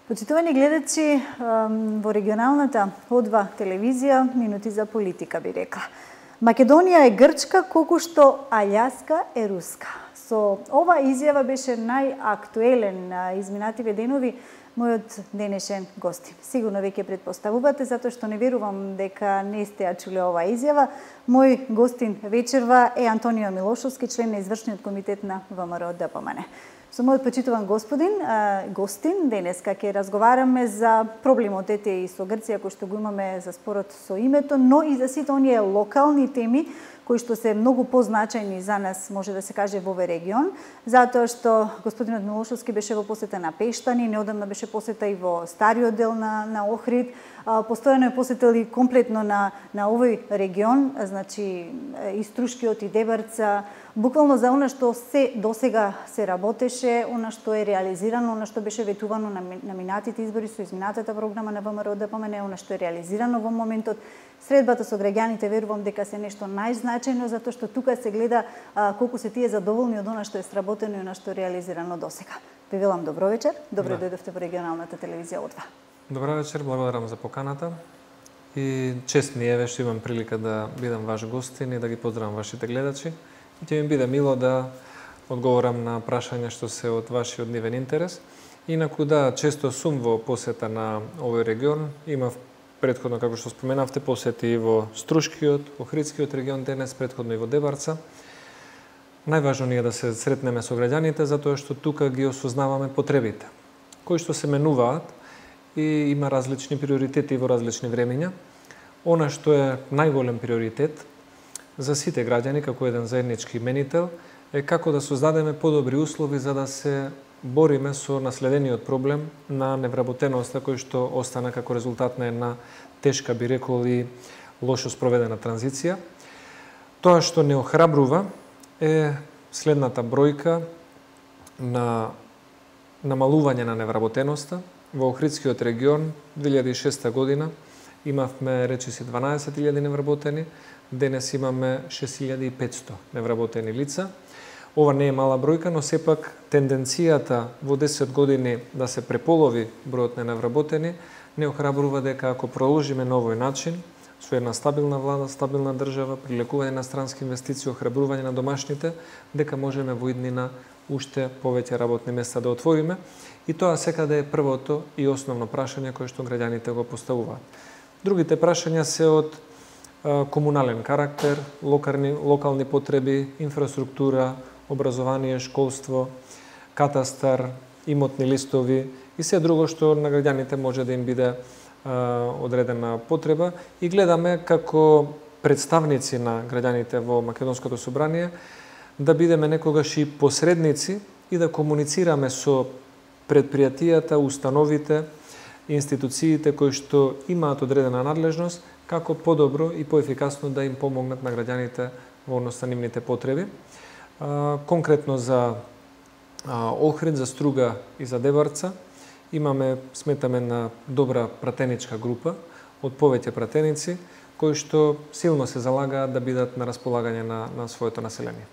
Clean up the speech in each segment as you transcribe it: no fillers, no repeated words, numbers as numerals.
Почитувани гледачи, во регионалната О2 телевизија, минути за политика би рекла. Македонија е грчка, колку што Аљаска е руска. Со ова изјава беше најактуелен изминативе денови мојот денешен гостин. Сигурно веќе претпоставувате, затоа што не верувам дека не сте ја чуле оваа изјава. Мој гостин вечерва е Антонио Милошовски, член на извршниот комитет на ВМРО-ДПМН. Со мојот почитуван гостин, денеска ќе разговараме за проблемот и со Грција, кој што го имаме за спорот со името, но и за сите оние локални теми кои што се многу позначајни за нас, може да се каже, во овој регион, затоа што господинот Милошовски беше во посета на Пештани, неодамна беше посета и во стариот дел на Охрид, постојано е посетил и комплетно на овој регион, значи и Струшкиот и Дебарца, буквално за она што се досега се работеше, она што е реализирано, она што беше ветувано на минатите избори со изминатата програма на ВМРО-ДПМН, она што е реализирано во моментот. Средбата со граѓаните верувам дека се нешто најзначајно, затоа што тука се гледа колку се тие задоволни од она што е сработено и она што е реализирано досега. Ви велам добро вечер, добро дојдовте во регионалната телевизија О2. Добро вечер, благодарам за поканата и чест ми е што имам прилика да бидам ваш гостин и да ги поздравам вашите гледачи. Ќе ми биде мило да одговорам на прашања што се од вашиот нивен интерес. Инаку да, често сум во посета на овој регион, имав претходно, како што споменавте, посети и во Струшкиот, Охридскиот регион денес, претходно и во Дебарца. Најважно ни е да се сретнеме со граѓаните, затоа што тука ги осознаваме потребите, кои што се менуваат и има различни приоритети во различни времења. Она што е најголем приоритет за сите граѓани, како еден заеднички именител, е како да создадеме подобри услови за да се бориме со наследениот проблем на невработеноста кој што остана како резултат на една тешка, би рекол, и лошо спроведена транзиција. Тоа што не охрабрува е следната бројка на намалување на невработеноста. Во Охридскиот регион 2006 година имавме речиси 12.000 невработени, денес имаме 6.500 невработени лица. Ова не е мала бројка, но сепак тенденцијата во 10 години да се преполови бројот на невработени не охрабрува дека ако продолжиме на овој начин, со една стабилна влада, стабилна држава, прилекување на странски инвестиции, охрабрување на домашните, дека можеме во иднина уште повеќе работни места да отвориме. И тоа секаде е првото и основно прашање кое што граѓаните го поставуваат. Другите прашања се од комунален карактер, локални потреби, инфраструктура, образование, школство, катастар, имотни листови и се друго што на граѓаните може да им биде одредена потреба. И гледаме како представници на граѓаните во Македонското собрание да бидеме некогаш и посредници и да комуницираме со предпријатијата, установите, институциите кои што имаат одредена надлежност, како подобро и поефикасно да им помогнат на граѓаните во однос на нивните потреби. Конкретно за Охрид, за Струга и за Дебарца сметаме на добра пратеничка група од повеќе пратеници кои што силно се залагаат да бидат на располагање на своето население.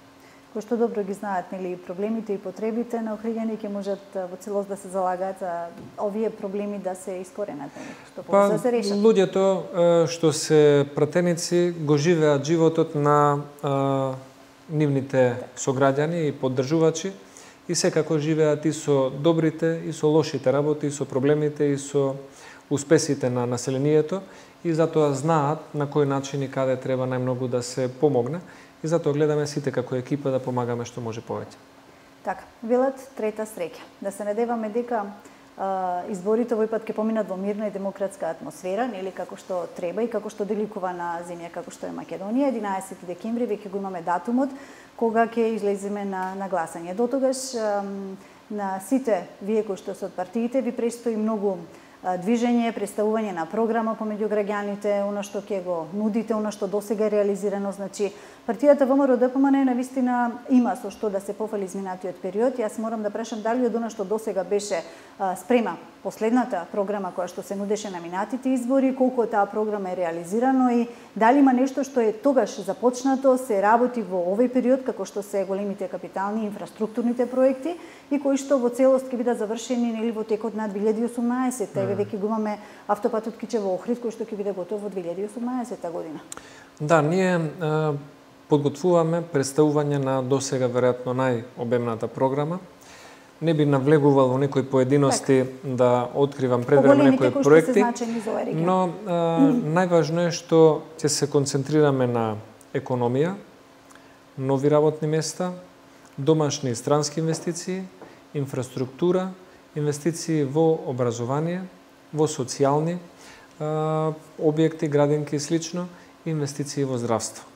Кои што добро ги знаат проблемите и потребите на охриѓани, ќе можат во целост да се залагаат за овие проблеми да се искоренат, што да се решат. Луѓето што се пратеници го живеат животот на нивните сограѓани и поддржувачи и секако живеат и со добрите и со лошите работи, и со проблемите и со успесите на населението и затоа знаат на кој начин и каде треба најмногу да се помогне и затоа гледаме сите како екипа да помагаме што може повеќе. Така, велат трета среќа. Да се надеваме дека изборите овој пат ќе поминат во мирна и демократска атмосфера, нели како што треба и како што деликува на земја како што е Македонија. 11 декември веќе го имаме датумот кога ќе излеземе на гласање. Дотогаш на сите вие кои што се од партиите ви престои многу движење, представување на програма помеѓу граѓаните, она што ќе го нудите, она што досега е реализирано, значи Партијата ВМРО-ДПМН навистина има со што да се пофали изминатиот период. Јас морам да прашам дали од она што досега беше спрема последната програма која што се нудеше на минатите избори, колку таа програма е реализирано и дали има нешто што е тогаш започнато, се работи во овој период, како што се големите капитални инфраструктурните проекти и кои што во целост ќе бидат завршени нели во текот на 2018. Еве веќе го имаме автопатот Кичево-Охрид кој што ќе биде готов во 2018 година. Да, ние подготвуваме представување на досега веројатно најобемната програма. Не би навлегувал во некои поединости да откривам предвреме некои проекти, но најважно е што ќе се концентрираме на економија, нови работни места, домашни и странски инвестиции, инфраструктура, инвестиции во образование, во социјални објекти, градинки и слично, инвестиции во здравство.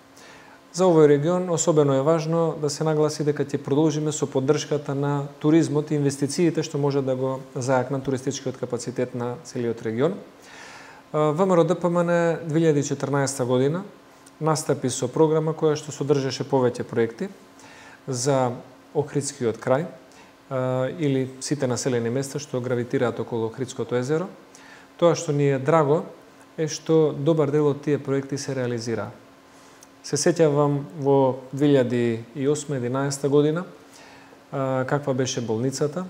За овој регион особено е важно да се нагласи дека ќе продолжиме со поддршката на туризмот и инвестициите што може да го зајакнат туристичкиот капацитет на целиот регион. ВМРО-ДПМН 2014 година настапи со програма која што содржеше повеќе проекти за Охридскиот крај или сите населени места што гравитираат околу Охридското езеро. Тоа што ни е драго е што добар дел од тие проекти се реализираа. Се сеќавам во 2008-2011 година каква беше болницата,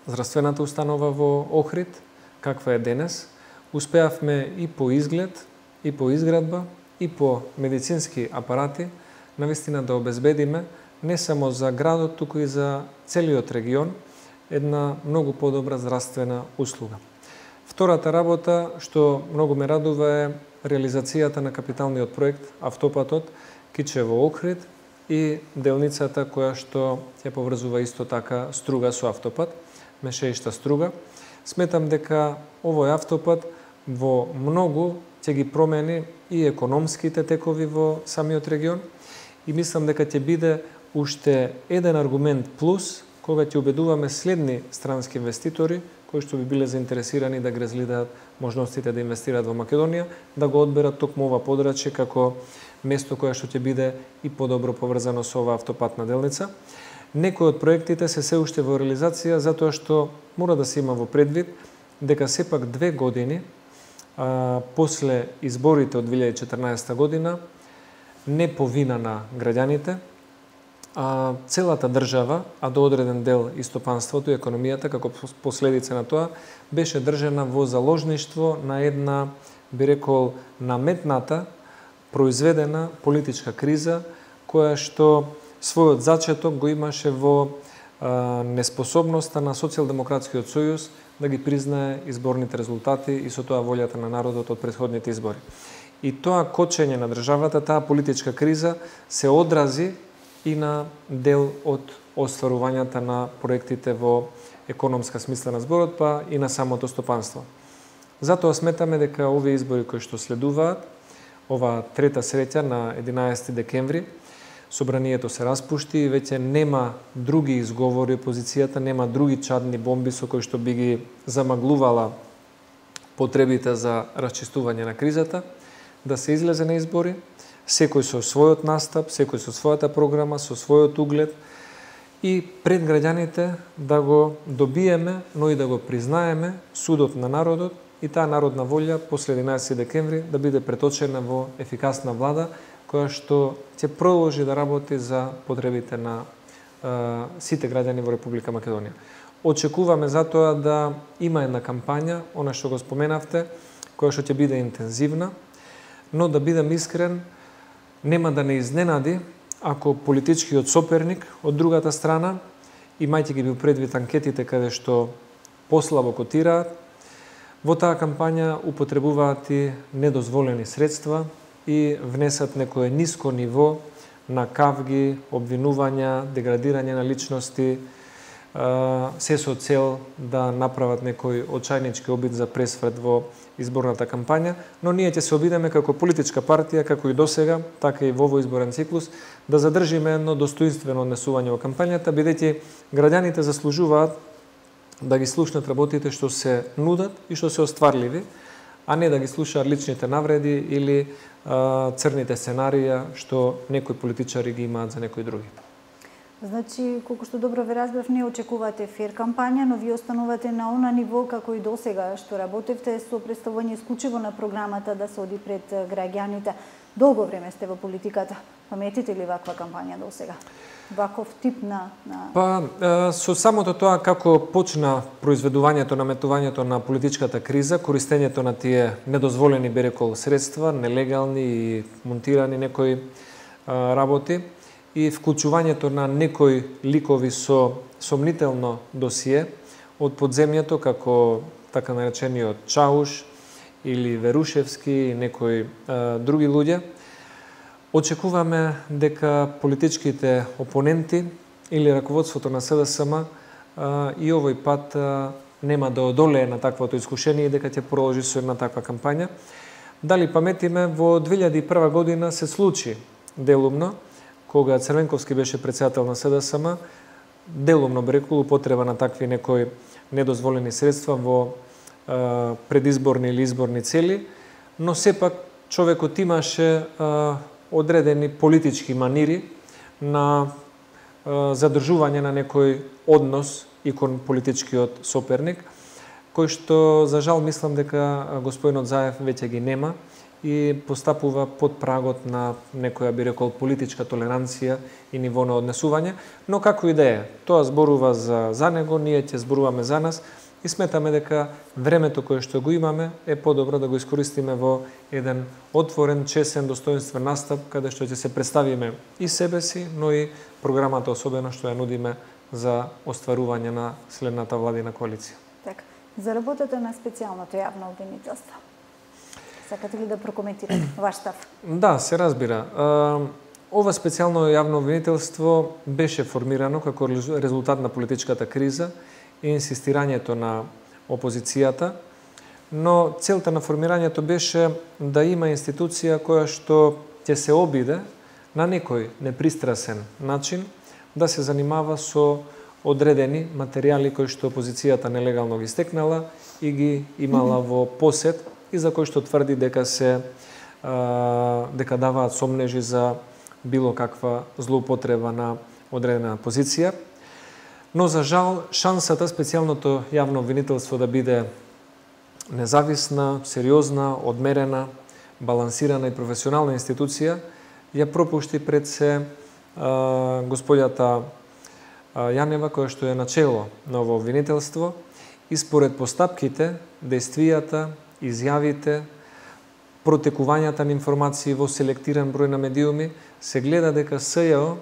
здравствената установа во Охрид, каква е денес. Успеавме и по изглед, и по изградба, и по медицински апарати навистина да обезбедиме не само за градот, туку и за целиот регион една многу подобра здравствена услуга. Втората работа што многу ме радува е реализацијата на капиталниот проект автопатот Кичево-Охрид и делницата која што ќе поврзува исто така Струга со автопат, Мешеишта Струга. Сметам дека овој автопат во многу ќе ги промени и економските текови во самиот регион и мислам дека ќе биде уште еден аргумент плюс кога ќе убедуваме следни странски инвеститори кои што би биле заинтересирани да ги разгледаат можностите да инвестираат во Македонија, да го одберат токму ова подрачје како место кое што ќе биде и подобро поврзано со оваа автопатна делница. Некои од проектите се уште во реализација затоа што мора да се има во предвид дека сепак 2 години после изборите од 2014 година не по вина на граѓаните, целата држава, а до одреден дел и стопанството и економијата како последица на тоа, беше држана во заложништво на една, би рекол, наметната, произведена политичка криза, која што својот зачеток го имаше во неспособноста на Социјалдемократскиот сојуз да ги признае изборните резултати и со тоа волјата на народот од претходните избори. И тоа кочење на државата, таа политичка криза се одрази и на дел од остварувањата на проектите во економска смисла на зборот, па и на самото стопанство. Затоа сметаме дека овие избори кои што следуваат, ова трета среќа на 11 декември, собранието се распушти и веќе нема други изговори, опозицијата нема други чадни бомби со кои што би ги замаглувала потребите за расчистување на кризата, да се излезе на избори, секој со својот настап, секој со својата програма, со својот углед и пред граѓаните да го добиеме, но и да го признаеме судот на народот и таа народна волја после 11 декември да биде преточена во ефикасна влада која што ќе продолжи да работи за потребите на сите граѓани во Република Македонија. Очекуваме затоа да има една кампања, она што го споменавте, која што ќе биде интензивна, но да бидем искрен, нема да не изненади ако политичкиот соперник од другата страна, имајќи ги бил предвид анкетите каде што послабо котираат, во таа кампања употребуваат и недозволени средства и внесат некое ниско ниво на кавги, обвинувања, деградирање на личности, се со цел да направат некој очајнички обид за пресврт во изборната кампања, но ние ќе се обидеме како политичка партија, како и досега, така и во овој изборен циклус, да задржиме едно достоинствено однесување во кампањата, бидејќи граѓаните заслужуваат да ги слушнат работите што се нудат и што се остварливи, а не да ги слушаат личните навреди или црните сценарија што некои политичари ги имаат за некои други. Значи, колку што добро ве разбрав, не очекувате фер кампања, но вие останувате на она ниво како и досега што работевте со представување исклучиво на програмата да се оди пред граѓаните. Долго време сте во политиката. Паметите ли ваква кампања досега? Ваков тип на... Со самото тоа како почна произведувањето, наметувањето на политичката криза, користењето на тие недозволени би рекол средства, нелегални и монтирани некои работи и вклучувањето на некои ликови со сомнително досие од подземјето, како така наречениот Чауш или Верушевски и некои други луѓе, очекуваме дека политичките опоненти или раководството на СДСМ и овој пат нема да одолее на таквото искушение и дека ќе продолжи со една таква кампања. Дали паметиме, во 2001 година се случи делумно, кога Црвенковски беше председател на СДСМ, делумно би рекол употреба на такви некои недозволени средства во предизборни или изборни цели, но сепак човекот имаше одредени политички манири на задржување на некој однос и кон политичкиот соперник, кој што, за жал, мислам дека господинот Заев веќе ги нема и постапува под прагот на некоја, би рекол, политичка толеранција и ниво на однесување, но како и да е, тоа зборува за него, ние ќе зборуваме за нас и сметаме дека времето кое што го имаме е подобро да го искористиме во еден отворен, чесен, достоинствен настап, каде што ќе се представиме и себе си, но и програмата особено што ја нудиме за остварување на следната владина коалиција. Така, за работата на специјалното јавно обвинителство. Сакате ли да прокоментирате ваш став? Да, се разбира. Ова специјално јавно обвинителство беше формирано како резултат на политичката криза и инсистирањето на опозицијата, но целта на формирањето беше да има институција која што ќе се обиде на некој непристрасен начин да се занимава со одредени материјали кои што опозицијата нелегално ги стекнала и ги имала во посед и за кои што тврди дека дека даваат сомнежи за било каква злоупотреба на одредена позиција. Но за жал, шансата специјалното јавно обвинителство да биде независна, сериозна, одмерена, балансирана и професионална институција ја пропушти пред се господјата Јанева, која што е начело на ово обвинителство и според постапките, действијата, изјавите, протекувањата на информации во селектиран број на медиуми, се гледа дека СЈО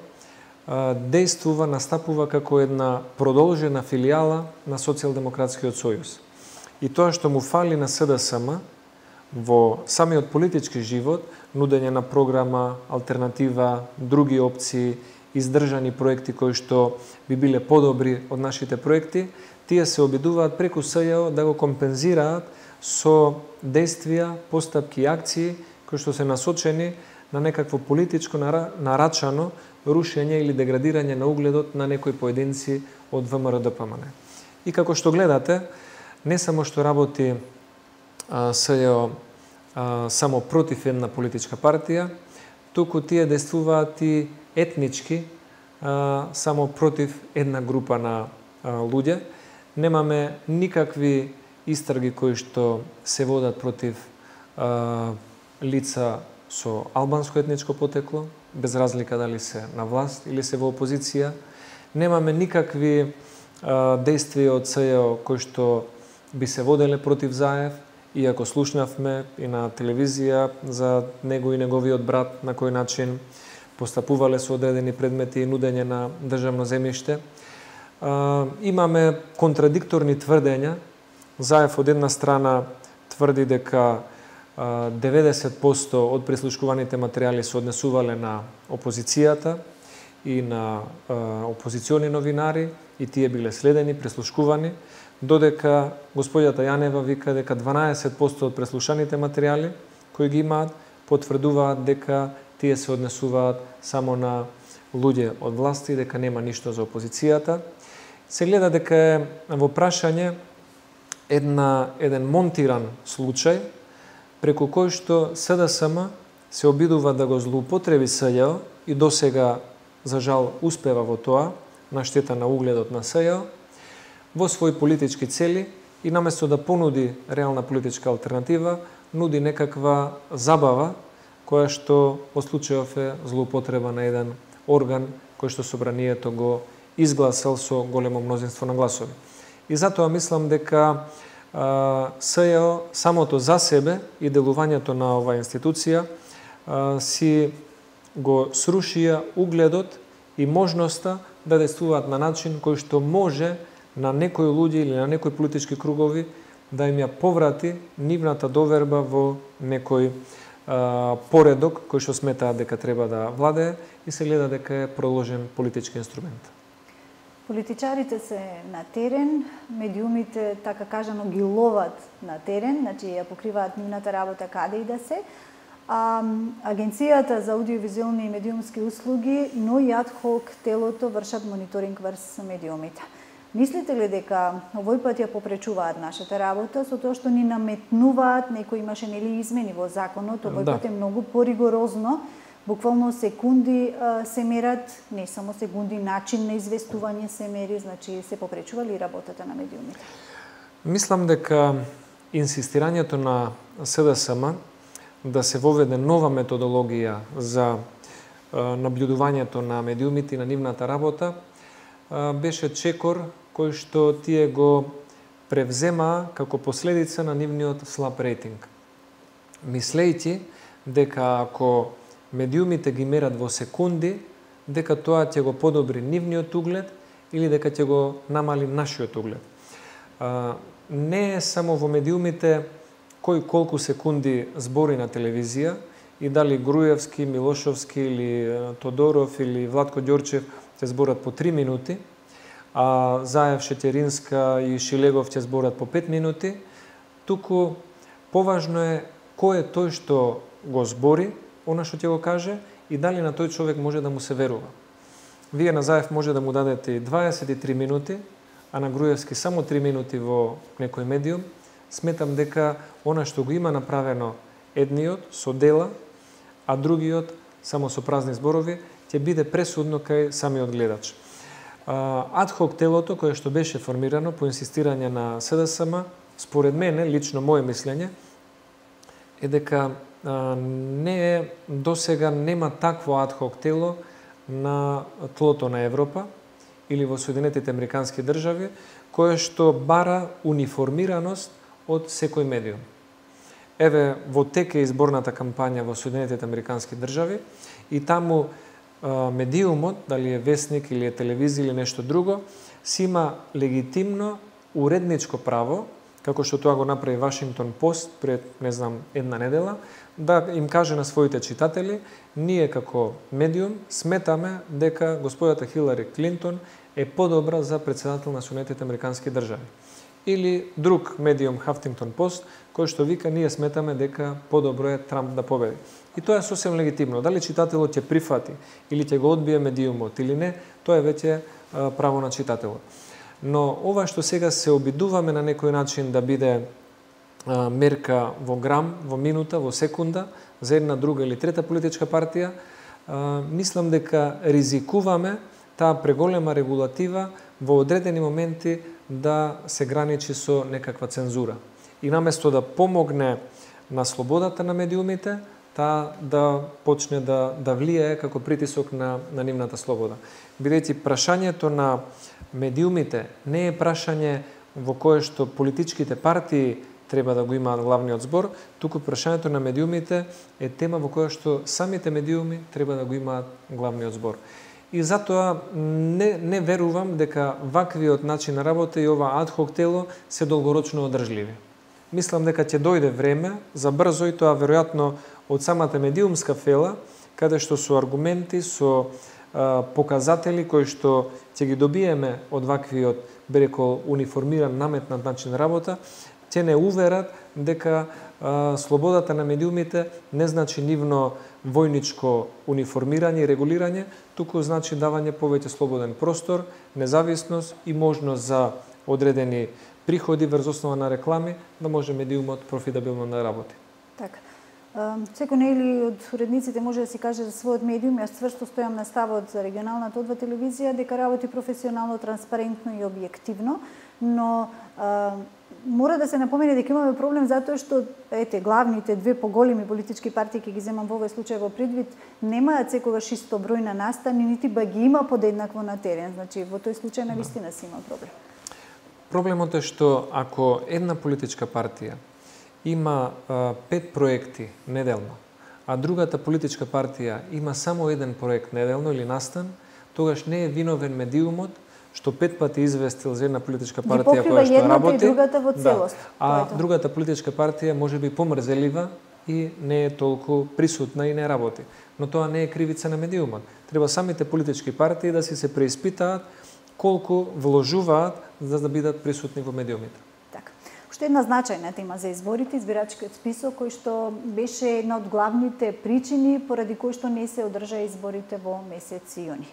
действува, настапува како една продолжена филијала на Социјалдемократскиот сојуз. И тоа што му фали на СДСМ во самиот политички живот, нудење на програма, алтернатива, други опции, издржани проекти кои што би биле подобри од нашите проекти, тие се обидуваат преку СЈО да го компензираат со действија, постапки и акции кои што се насочени на некакво политичко нарачано рушење или деградирање на угледот на некои поединци од ВМРО-ДПМН. И како што гледате, не само што работи СЈО само против една политичка партија, туку тие действуваат и етнички само против една група на луѓе. Немаме никакви истраги кои што се водат против лица со албанско етничко потекло, без разлика дали се на власт или се во опозиција. Немаме никакви действија од СЈО кои што би се воделе против Заев, иако слушнавме и на телевизија за него и неговиот брат на кој начин постапувале со одредени предмети и нудење на државно земјиште. Имаме контрадикторни тврдења. Заев од една страна тврди дека 90% од прислушкуваните материјали се однесувале на опозицијата и на опозициони новинари и тие биле следени, прислушкувани, додека господјата Јанева вика дека 12% од преслушаните материјали кои ги имаат потврдуваат дека тие се однесуваат само на луѓе од власти, дека нема ништо за опозицијата. Се гледа дека е во прашање еден монтиран случај преку кој што СДСМ се обидува да го злоупотреби СЈО и досега, за жал, успева во тоа, на штета на угледот на СЈО, во своји политички цели и наместо да понуди реална политичка алтернатива, нуди некаква забава која што во случајов е злоупотреба на еден орган кој што собранието го изгласал со големо мнозинство на гласови. И затоа мислам дека СЈО самото за себе и делувањето на оваа институција си го срушија угледот и можноста да действуваат на начин кој што може на некои луѓе или на некои политички кругови да им ја поврати нивната доверба во некој поредок кој што сметаат дека треба да владее и се гледа дека е продолжен политички инструмент. Политичарите се на терен, медиумите, така кажано, ги ловат на терен, значи ја покриваат нивната работа каде и да се. Агенцијата за аудиовизуелни и медиумски услуги, но и адхок телото вршат мониторинг врз медиумите. Мислите ли дека овој пат ја попречуваат нашата работа со тоа што ни наметнуваат, некои имаше нели измени во законот, овој пат е многу поригорозно, буквално секунди се мерат, не само секунди, начин на известување се мери, значи се попречува ли работата на медиумите? Мислам дека инсистирањето на СДСМ да се воведе нова методологија за наблюдувањето на медиумите и на нивната работа беше чекор кој што тие го превземаа како последица на нивниот слаб рейтинг. Мислејќи дека ако медиумите ги мерат во секунди, дека тоа ќе го подобри нивниот углед или дека ќе го намали нашиот углед. Не е само во медиумите кој колку секунди збори на телевизија и дали Груевски, Милошовски или Тодоров или Владко Ѓорчев ќе зборат по 3 минути, а Заев, Шетеринска и Шилегов ќе зборат по 5 минути, туку поважно е кој е тој што го збори, она што ќе го каже и дали на тој човек може да му се верува. Вие на Заев може да му дадете 23 минути, а на Груевски само 3 минути во некој медиум. Сметам дека она што го има направено едниот со дела, а другиот само со празни зборови, ќе биде пресудно кај самиот гледач. Адхок телото кое што беше формирано по инсистирање на СДСМ, според мене, лично моје мислење, е дека досега нема такво адхок тело на тлото на Европа или во Соединетите Американски држави, кое што бара униформираност од секој медиум. Еве, во тек е изборната кампања во Соединетите Американски држави и таму медиумот, дали е весник или е телевизија или нешто друго, си има легитимно уредничко право, како што тоа го направи Вашингтон Пост пред, не знам, една недела, да им каже на своите читатели, ние како медиум сметаме дека господата Хилари Клинтон е подобра за председател на Соединетите Американски држави. Или друг медиум Хафтингтон Пост, кој што вика ние сметаме дека подобро е Трамп да победи. И тоа е сосем легитимно. Дали читателот ќе прифати или ќе го одбие медиумот или не, тоа е веќе право на читателот. Но ова што сега се обидуваме на некој начин да биде мерка во грам, во минута, во секунда за една, друга или трета политичка партија, мислам дека ризикуваме таа преголема регулатива во одредени моменти да се граничи со некаква цензура. И наместо да помогне на слободата на медиумите, таа да почне да влијае како притисок на нивната слобода. Бидејќи прашањето на медиумите не е прашање во кое што политичките партии треба да го имаат главниот збор, туку прашањето на медиумите е тема во која што самите медиуми треба да го имаат главниот збор. И затоа не верувам дека ваквиот начин на работа и ова адхок тело се долгорочно одржливи. Мислам дека ќе дојде време за брзо и тоа веројатно од самата медиумска фела, каде што со аргументи, со показатели кои што ќе ги добиеме од ваквиот, би рекол, униформиран, наметнат начин на работа, ќе не уверат дека слободата на медиумите не значи нивно војничко униформирање и регулирање, туку значи давање повеќе слободен простор, независност и можност за одредени приходи врз основа на реклами, да може медиумот профитабилно да работи. Така. Секој нели од уредниците може да си каже за својот медиум, јас цврсто стојам на ставот за регионалната одва телевизија дека работи професионално, транспарентно и објективно, но мора да се напомене дека имаме проблем затоа што главните две поголеми политички партии, ќе ги земам во овој случај во предвид, немаат секогаш исто број на настани, нити ба ги има подеднакво на терен. Значи во тој случај навистина си има проблем. Проблемот е што ако една политичка партија има 5 проекти неделно, а другата политичка партија има само еден проект неделно или настан, тогаш не е виновен медиумот што 5 пати известил за една политичка партија која што работи, и другата во целост. А другата политичка партија можеби помрзелива и не е толку присутна и не работи. Но тоа не е кривица на медиумот. Треба самите политички партии да си се преиспитаат колку вложуваат за да бидат присутни во медиумите. Така. Уште една значајна тема за изборите, избирачкиот список, кој што беше една од главните причини поради кој што не се одржа изборите во месец јуни.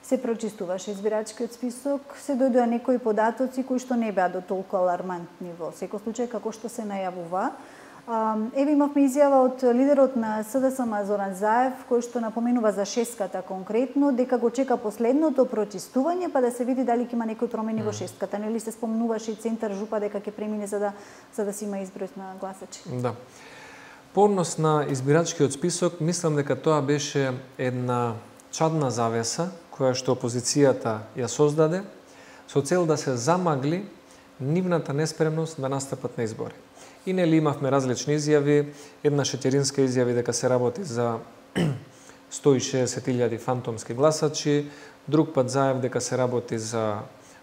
Се прочистуваше избирачкиот список, се дојдоа некои податоци кои што не беа до толку алармантни во секој случај како што се најавува. Еве имавме изјава од лидерот на СДСМ Зоран Заев, кој што напоменува за шестката конкретно, дека го чека последното прочистување па да се види дали ќе има некои промени во шестката. Нели се спомнуваше и центар Жупа дека ќе премине за да се има изброј на гласачи. Да. По однос на избирачкиот список, мислам дека тоа беше една чадна завеса која што опозицијата ја создаде со цел да се замагли нивната неспремност да настапат на избори. И нели имавме различни изјави, една шетеринска изјави дека се работи за 160.000 фантомски гласачи, друг пат Заев дека се работи за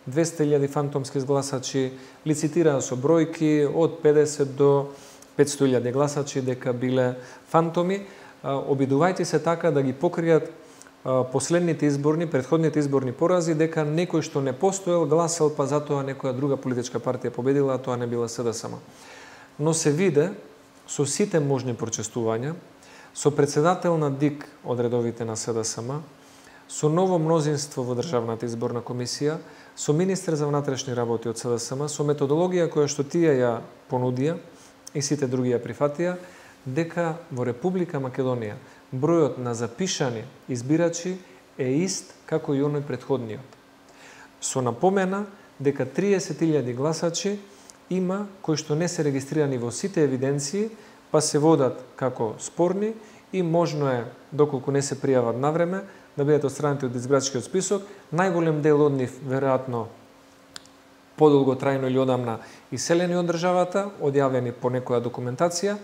200.000 фантомски гласачи, лицитираа со бројки од 50 до 500.000 гласачи дека биле фантоми, обидувајќи се така да ги покријат последните изборни, претходните изборни порази, дека некој што не постоел гласал, па затоа некоја друга политичка партија победила, а тоа не била СДСМ. Но се виде со сите можни прочестувања, со председател на ДИК од редовите на СДСМ, со ново мнозинство во Државната изборна комисија, со министер за внатрешни работи од СДСМ, со методологија која што тие ја понудија и сите други ја прифатија, дека во Република Македонија бројот на запишани избирачи е ист како и оној претходниот. Со напомена дека 30.000 гласачи има кои што не се регистрирани во сите евиденции, па се водат како спорни и можно е, доколку не се пријават навреме, да бидат отстранети од избирачкиот список. Најголем дел од нив, веројатно, подолготрајно или одамна иселени од државата, одјавени по некоја документација,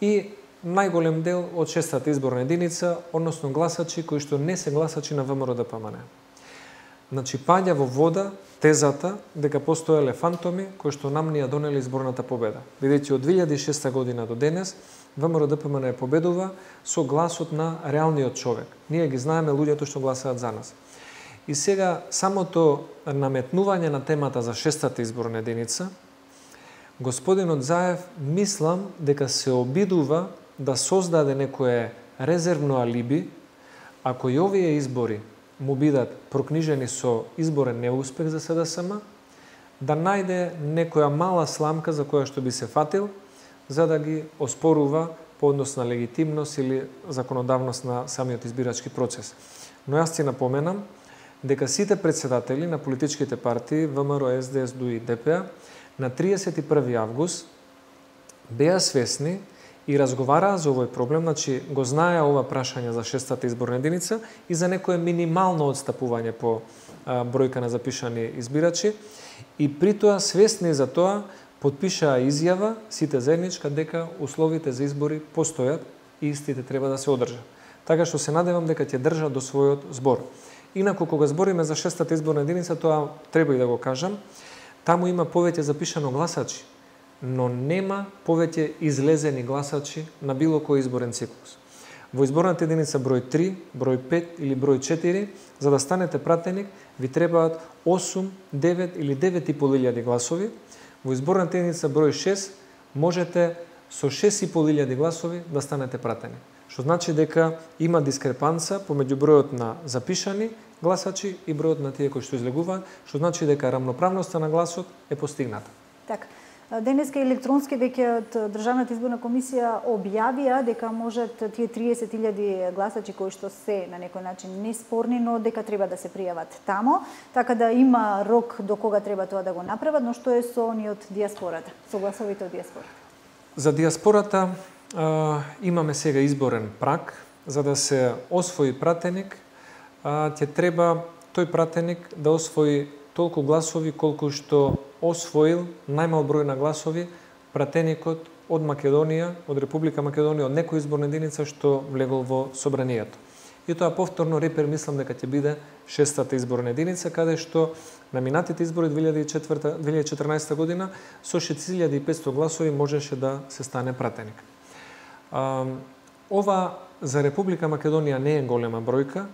и најголем дел од шестата изборна единица, односно гласачи кои што не се гласачи на ВМРО-ДПМН. Значи, паѓа во вода тезата дека постоеле фантоми кои што нам ни ја донеле изборната победа. Бидејќи од 2006 година до денес ВМРО-ДПМН победува со гласот на реалниот човек. Ние ги знаеме луѓето што гласаат за нас. И сега самото наметнување на темата за шестата изборна единица, господинот Заев мислам дека се обидува да создаде некое резервно алиби, ако и овие избори му бидат прокнижени со изборен неуспех за СДСМ, да најде некоја мала сламка за која што би се фатил, за да ги оспорува по однос на легитимност или законодавност на самиот избирачки процес. Но јас ти напоменам дека сите председатели на политичките партии ВМРО, СДС, ДУ и ДПА на 31. август беа свесни и разговараа за овој проблем, значи го знаеа ова прашање за шестата изборна единица и за некое минимално отстапување по бројка на запишани избирачи, и при тоа свесни за тоа потпишаа изјава сите заедничка дека условите за избори постојат и истите треба да се одржат. Така што се надевам дека ќе држат до својот збор. Инаку кога збориме за шестата изборна единица, тоа треба и да го кажам, таму има повеќе запишано гласачи, но нема повеќе излезени гласачи на било кој изборен циклус. Во изборната единица број 3, број 5 или број 4, за да станете пратеник, ви требаат 8, 9 или 9.500 гласови. Во изборната единица број 6 можете со 6.500 гласови да станете пратеник. Што значи дека има дискрепанца помеѓу бројот на запишани гласачи и бројот на тие кои што излегуваат, што значи дека рамноправноста на гласот е постигната. Така. Денеска електронски веќе од Државната изборна комисија објавија дека можат тие 30.000 гласачи кои што се на некој начин неспорни, но дека треба да се пријават тамо, така да има рок до кога треба тоа да го направат, но што е со оние од диаспората, со гласовите од диаспората? За диаспората имаме сега изборен праг, за да се освои пратеник, ќе треба тој пратеник да освои толку гласови колку што освоил најмал број на гласови пратеникот од Македонија, од Република Македонија, од некоја изборна единица што влегол во собранието. И тоа повторно репер мислам дека ќе биде 6-та изборна единица, каде што на минатите избори 2014 година со 6500 гласови можеше да се стане пратеник. Ова за Република Македонија не е голема бројка,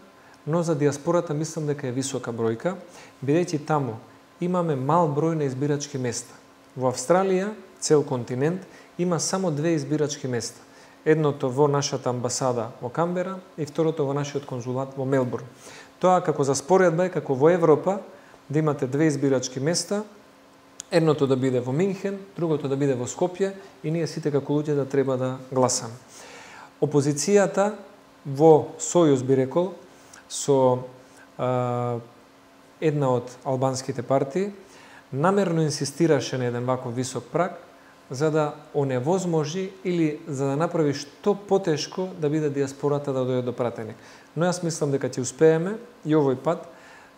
но за диаспората мислам дека е висока бројка, бидејќи таму имаме мал број на избирачки места. Во Австралија, цел континент, има само 2 избирачки места. Едното во нашата амбасада во Камбера и второто во нашиот конзулат во Мелбурн. Тоа како за споредба е како во Европа да имате 2 избирачки места, едното да биде во Минхен, другото да биде во Скопје и ние сите како луѓе да треба да гласаме. Опозицијата во сојуз би рекол со една од албанските партии намерно инсистираше на еден ваков висок праг за да оневозможи или за да направи што потешко да биде диаспората да дојде до пратеник. Но јас мислам дека ќе успееме и овој пат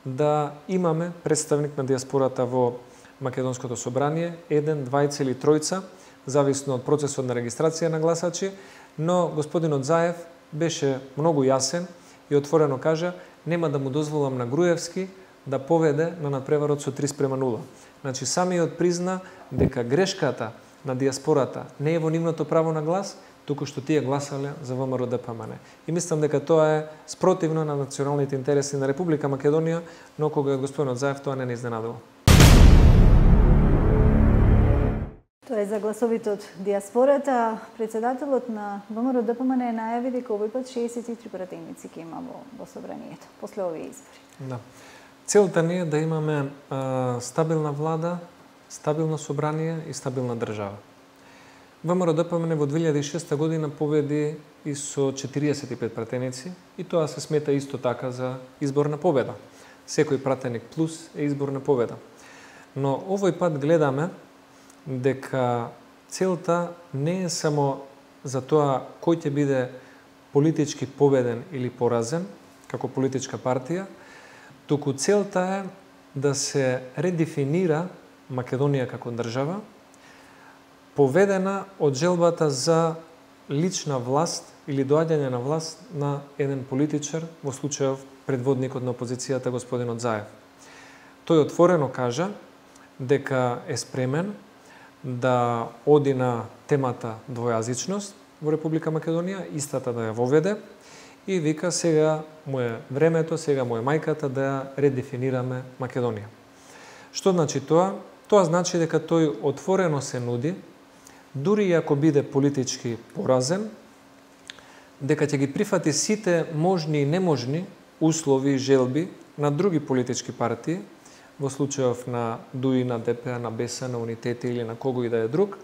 да имаме представник на диаспората во Македонското собрание, 1, 2 или 3, зависно од процесот на регистрација на гласачи, но господинот Заев беше многу јасен и отворено кажа нема да му дозволам на Груевски да поведе на надпреварот со 3:0. Значи самиот призна дека грешката на диаспората не е во нивното право на глас, туку што тие гласале за ВМРО-ДПМН. И мислам дека тоа е спротивно на националните интереси на Република Македонија, но кога господинот Заев тоа не изненадува. Тоа е за гласовите од диаспората. Председателот на ВМРО-ДПМН најави дека овој пат 63 пратеници ќе има во собранието после овие избори. Да. Целта ни е да имаме стабилна влада, стабилно собрание и стабилна држава. ВМРО-ДПМН во 2006 година победи и со 45 пратеници и тоа се смета исто така за изборна победа. Секој пратеник плюс е изборна победа. Но овој пат гледаме дека целта не е само за тоа кој ќе биде политички победен или поразен како политичка партија, туку целта е да се редефинира Македонија како држава, поведена од желбата за лична власт или доаѓање на власт на еден политичар, во случајов предводникот на опозицијата господинот Заев. Тој отворено кажа дека е спремен да оди на темата двојазичност во Република Македонија, истата да ја воведе и вика сега му е времето, сега му е мајката да ја редефинираме Македонија. Што значи тоа? Тоа значи дека тој отворено се нуди, дури и ако биде политички поразен, дека ќе ги прифати сите можни и неможни услови и желби на други политички партии, во случајов на ДУИ, на ДП, на БЕСА, на Унитети или на кого и да е друг,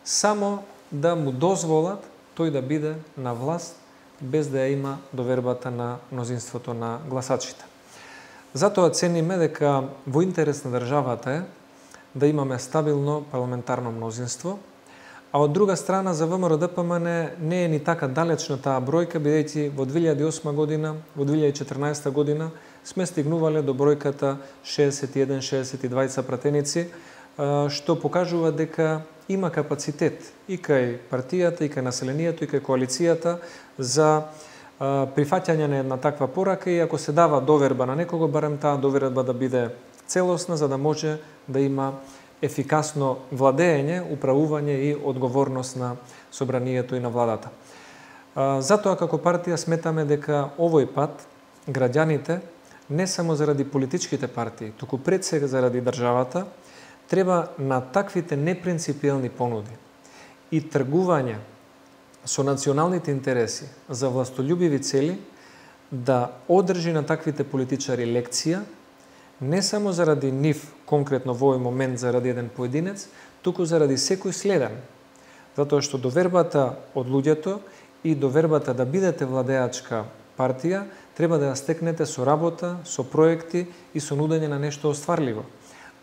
само да му дозволат тој да биде на власт без да ја има довербата на мнозинството на гласачите. Затоа цениме дека во интерес на државата е да имаме стабилно парламентарно мнозинство, а од друга страна за ВМРО-ДПМН не е ни така далечна таа бројка, бидејќи во 2008 година, во 2014 година сме стигнувале до бројката 61-62 пратеници, што покажува дека има капацитет и кај партијата, и кај населението, и кај коалицијата за прифаќање на една таква порака и ако се дава доверба на некого, барем таа доверба да биде целосна, за да може да има ефикасно владење, управување и одговорност на собранието и на владата. Затоа како партија сметаме дека овој пат граѓаните, не само заради политичките партии, туку пред сега заради државата, треба на таквите непринципиелни понуди и тргување со националните интереси за властолюбиви цели да одржи на таквите политичари лекција, Не само заради нив, конкретно во овој момент заради еден поединец, туку заради секој следен. Затоа што довербата од луѓето и довербата да бидете владеачка партија треба да ја стекнете со работа, со проекти и со нудење на нешто остварливо,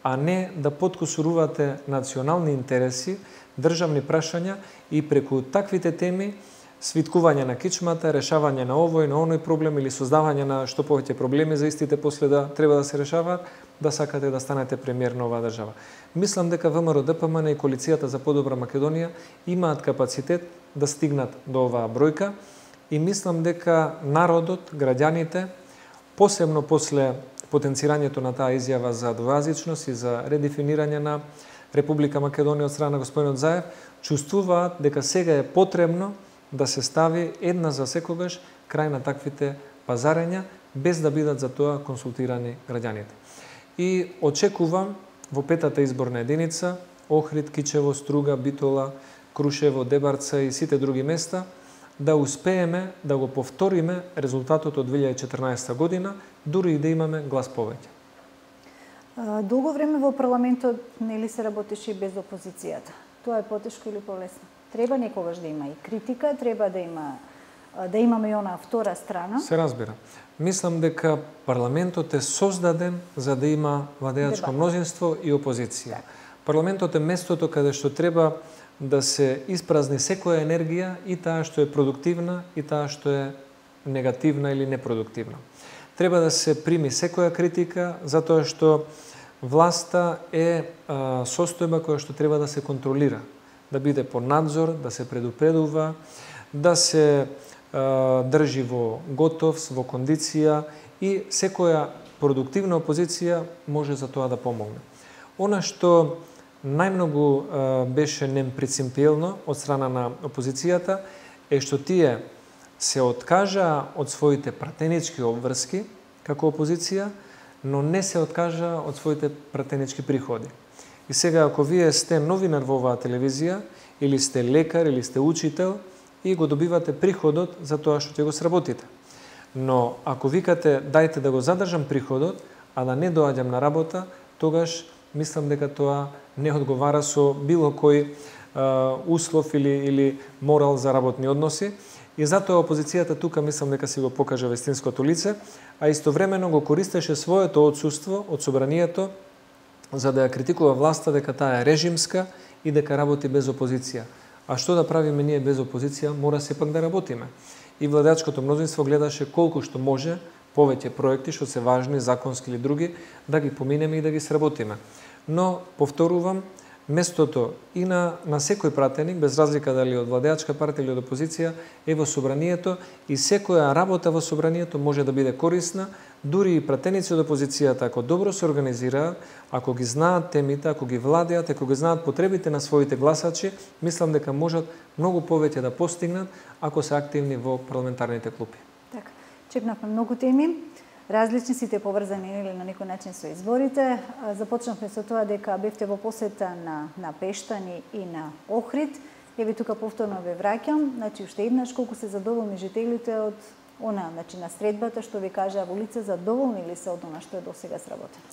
а не да подкусурувате национални интереси, државни прашања и преку таквите теми свиткување на кичмата, решавање на овој, на оној проблем или создавање на што повеќе проблеми за истите после да треба да се решаваат, да сакате да станете премиер на оваа држава. Мислам дека ВМРО ДПМН и Коалицијата за подобра Македонија имаат капацитет да стигнат до оваа бројка и мислам дека народот, граѓаните, посебно после потенцирањето на таа изјава за двојазичност и за редефинирање на Република Македонија од страна на господинот Заев, чувствуваат дека сега е потребно да се стави една за секогаш крај на таквите пазарења, без да бидат за тоа консултирани граѓаните. И очекувам во петата изборна единица, Охрид, Кичево, Струга, Битола, Крушево, Дебарца и сите други места, да успееме да го повториме резултатот од 2014 година, дури и да имаме глас повеќе. Долго време во парламентот нели се работеше и без опозицијата. Тоа е потешко или полесно? Треба некогаш да има и критика, треба да имаме и онаа втора страна. Се разбира. Мислам дека парламентот е создаден за да има владеачко мнозинство и опозиција. Парламентот е местото каде што треба да се испразни секоја енергија, и таа што е продуктивна и таа што е негативна или непродуктивна. Треба да се прими секоја критика, затоа што власта е состојба која што треба да се контролира, да биде под надзор, да се предупредува, да се држи во готовност, во кондиција, и секоја продуктивна опозиција може за тоа да помогне. Она што најмногу беше непринципиелно од страна на опозицијата е што тие се откажаа од своите пратенички обврски како опозиција, но не се откажаа од своите пратенички приходи. И сега, ако вие сте новинар во оваа телевизија, или сте лекар, или сте учител, и го добивате приходот за тоа што ќе го сработите. Но ако викате дајте да го задржам приходот, а да не доаѓам на работа, тогаш мислам дека тоа не одговара со било кој услов или морал за работни односи. И затоа опозицијата тука мислам дека си го покажа вистинското лице, а истовремено го користеше своето отсуство од собранието за да ја критикува власта дека таа е режимска и дека работи без опозиција. А што да правиме ние без опозиција? Мора сепак да работиме. И владеачкото мнозинство гледаше колку што може повеќе проекти што се важни, законски или други, да ги поминеме и да ги сработиме. Но повторувам, местото и на секој пратеник, без разлика дали од владеачка партија или од опозиција, е во собранието, и секоја работа во собранието може да биде корисна, дури и пратеници од опозицијата, ако добро се организираат, ако ги знаат темите, ако ги владеат, ако ги знаат потребите на своите гласачи, мислам дека можат многу повеќе да постигнат ако се активни во парламентарните клупи. Така, чекнавме многу теми. Различни сите поврзани или на некој начин со изборите. Започнавме со тоа дека бевте во посета на Пештани и на Охрид. Еве тука повторно ве враќам, значи уште еднаш колку се задоволни жителите од на средбата што ви кажа во лице, задоволни ли се од она што е досега сработено?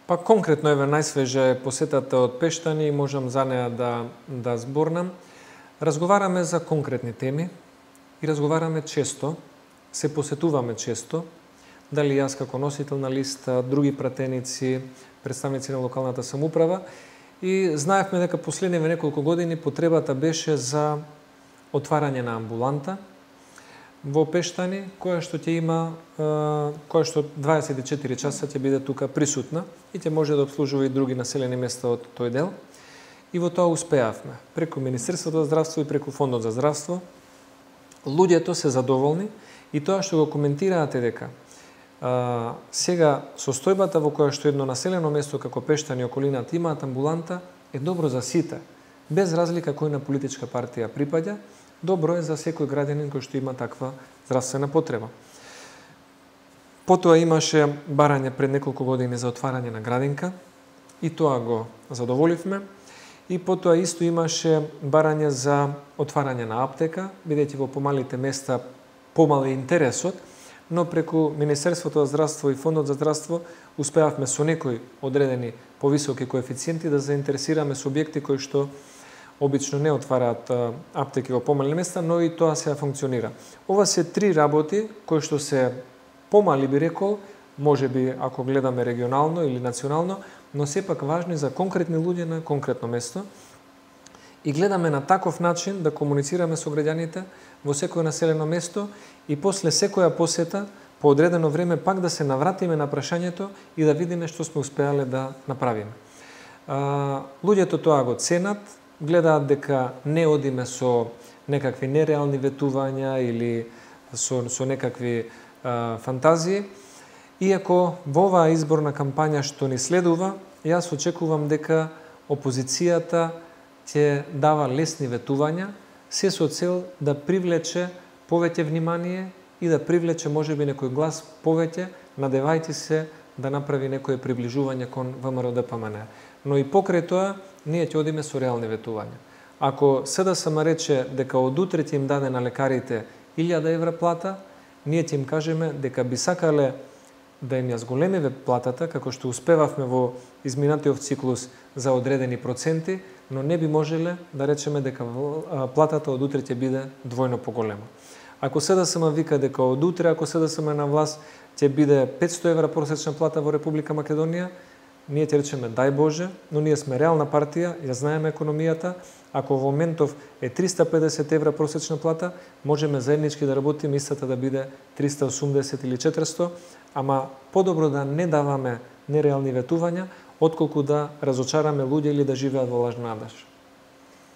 Па конкретно еве најсвежа е посетата од Пештани и можам за неа да зборнам. Разговараме за конкретни теми и разговараме често, се посетуваме често. Дали јас како носител на листа, други пратеници, представници на локалната самоуправа, и знаевме дека последниве неколку години потребата беше за отварање на амбуланта во Пештани, која што ќе има, која што 24 часа ќе биде тука присутна и ќе може да обслужува и други населени места од тој дел. И во тоа успеавме. Преку Министерството за здравство и преку Фондот за здравство, луѓето се задоволни, и тоа што го коментираате дека сега состојбата во која што едно населено место како Пештани и околината имаат амбуланта е добро за сите, без разлика кој на политичка партија припаѓа, добро е за секој граѓанин кој што има таква здравствена потреба. Потоа имаше барање пред неколку години за отварање на градинка, и тоа го задоволивме, и потоа исто имаше барање за отварање на аптека, бидејќи во помалите места помал е интересот, но преку Министерството за здравство и Фондот за здравство успеавме со некои одредени повисоки коефициенти да заинтересираме субјекти кои што обично не отвараат аптеки во помални места, но и тоа сега функционира. Ова се 3 работи кои што се помали, би рекол, може би ако гледаме регионално или национално, но сепак важни за конкретни луѓе на конкретно место. И гледаме на таков начин да комуницираме со граѓаните во секој населено место и после секоја посета по одредено време пак да се навратиме на прашањето и да видиме што сме успеале да направиме. Луѓето тоа го ценат, гледаат дека не одиме со некакви нереални ветувања или со некакви фантазии. Иако во оваа изборна кампања што ни следува, јас очекувам дека опозицијата ќе дава лесни ветувања, се со цел да привлече повеќе внимание и да привлече можеби некој глас повеќе, надевајќи се да направи некое приближување кон ВМРО-ДПМН. Но и покрај тоа, ние ќе одиме со реални ветувања. Ако СДСМ рече дека од утре ќе им даде на лекарите 1000 евра плата, ние ќе им кажеме дека би сакале да им ја зголемиме платата, како што успевавме во изминатиот циклус за одредени проценти, но не би можеле да речеме дека платата од утре ќе биде двојно поголема. Ако СДСМ вика дека од утре, ако СДСМ на власт, ќе биде 500 евра просечна плата во Република Македонија, ние ќе речеме дај Боже, но ние сме реална партија, ја знаеме економијата. Ако во моментов е 350 евра просечна плата, можеме заеднички да работиме истата да биде 380 или 400, ама подобро да не даваме нереални ветувања, отколку да разочараме луѓе или да живеат во лажна надеж.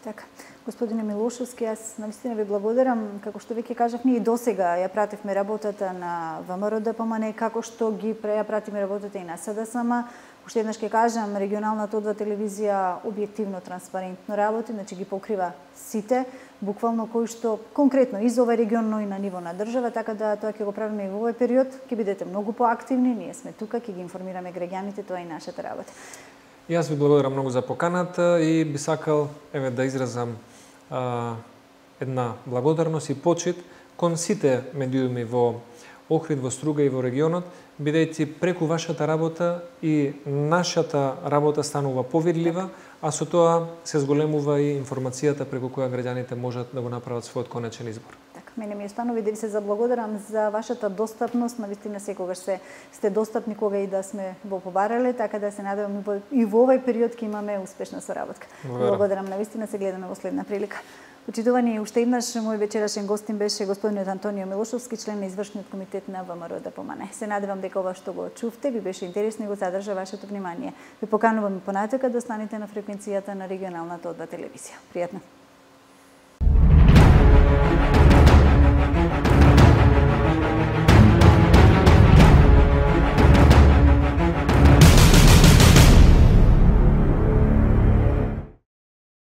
Така. Господине Милошовски, јас навистина ви благодарам. Како што веќе кажав, ние и досега ја пративме работата на ВМРО-ДПМН, како што ја пратиме работата и на СДСМ. Уште еднаш ќе кажам, регионалната одва телевизија објективно, транспарентно работи, значи ги покрива сите, буквално кои што конкретно и за овој регион, но и на ниво на држава, така да тоа ќе го правиме и во овој период. Ќе бидете многу поактивни, ние сме тука, ќе ги информираме граѓаните, тоа е и нашата работа. Јас ви благодарам многу за поканата и би сакал да изразам една благодарност и почит кон сите медиуми во Охрид, во Струга и во регионот, бидејќи преку вашата работа и нашата работа станува повидлива, а со тоа се зголемува и информацијата преку која граѓаните можат да го направат својот конечен избор. Така, мене ми останува да ви се заблагодарам за вашата достапност, навистина секогаш сте достапни кога и да сме во побарале, така да се надевам и во овој период ќе имаме успешна соработка. Благодарам, навистина се гледаме во следна прилика. Почитувани, уште еднаш мој вечерашен гостин беше господинот Антонио Милошовски, член на извршниот комитет на ВМРО-ДПМН. Се надевам дека ова што го чувте ви беше интересно и го задржа вашето внимание. Ве поканувам и понатака да останете на фреквенцијата на регионалната одва телевизија. Пријатно.